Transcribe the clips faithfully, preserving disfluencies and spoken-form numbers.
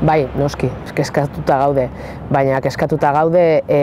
Bai, noski, kezkatuta gaude, baina kezkatuta gaude e,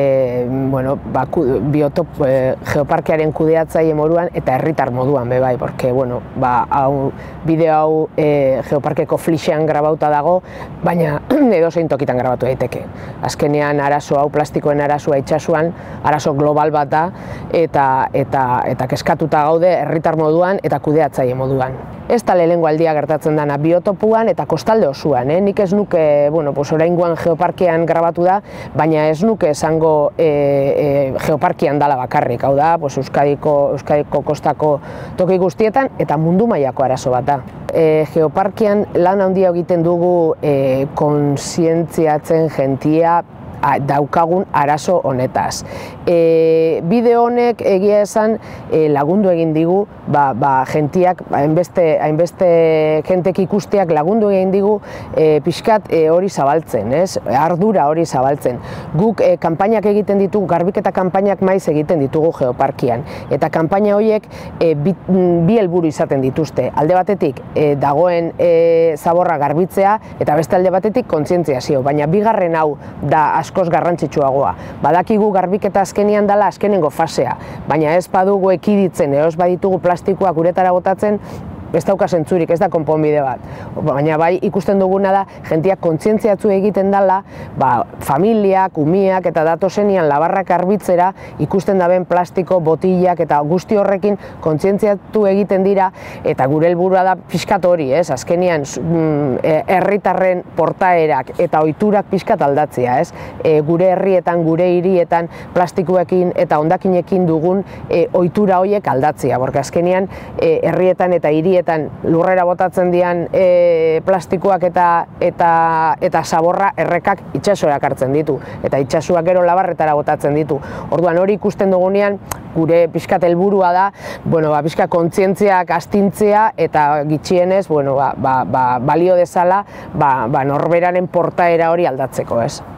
bueno, ba, biotop, e, geoparkearen kudeatzaile moduan eta herritar moduan be bai, porque bueno, ba, hau, bideo hau e, geoparkeko flixean grabauta dago, baina edozein tokitan grabatu daiteke. Azkenean arazo hau, plastikoen arazoa itxasuan, arazo global bat da, eta, eta, eta kezkatuta gaude herritar moduan eta kudeatzaile moduan. Ez da lehenengo aldia gertatzen dana biotopuan eta kostalde osoan, eh? Nik ez nuke, bueno, pues oraingoan geoparkean grabatu da, baina ez nuke esango e, e, geoparkean dala bakarrik, hau da, pues Euskadiko, Euskadiko kostako toki guztietan eta mundu mailako arazo bat da. E, geoparkean lan handia egiten dugu e, kontzientziatzen jentia daukagun arazo honetaz. E, bideo honek egia esan e, lagundu egin digu, ba, ba, jentiak, hainbeste, hainbeste jentek ikusteak lagundu egin digu e, pixkat e, hori zabaltzen, ez? Ardura hori zabaltzen. Guk e, kanpainak egiten ditugu, garbiketa kanpainak maiz egiten ditugu geoparkian. Eta kanpaina horiek e, bi, bi helburu izaten dituzte. Alde batetik e, dagoen e, zaborra garbitzea eta beste alde batetik kontzientziazio, baina bigarren hau da askoz garrantzitsuagoa. Badakigu garbiketa azkenian dela azkenengo fasea, baina ez badugu ekiditzen, eos baditugu plastikoak uretara botatzen, ez dauka zentzurik, ez da konponbide bat. Baina bai ikusten duguna da, jentiak kontzientziatzu egiten dela, ba, familiak, umiak eta datozenian labarrak garbitzera ikusten daben plastiko, botillak eta guzti horrekin kontzientziatu egiten dira, eta gure helburua da pixkat hori, ez? Azkenian herritarren portaerak eta ohiturak pixkat aldatzea, ez? E, gure herrietan, gure hirietan plastikoekin eta hondakinekin dugun e, ohitura horiek aldatzea, porque azkenian e, herrietan eta hirietan lurrera botatzen dian e, plastikoak eta, eta, eta zaborra errekak itsasoak hartzen ditu, eta itsasoak gero labarretara botatzen ditu. Orduan hori ikusten dugunean, gure pixkat helburua da, bueno, ba, pixka kontzientziak astintzea eta gitxienez, bueno, ba, ba, ba, balio dezala ba, ba, norberaren portaera hori aldatzeko, ez?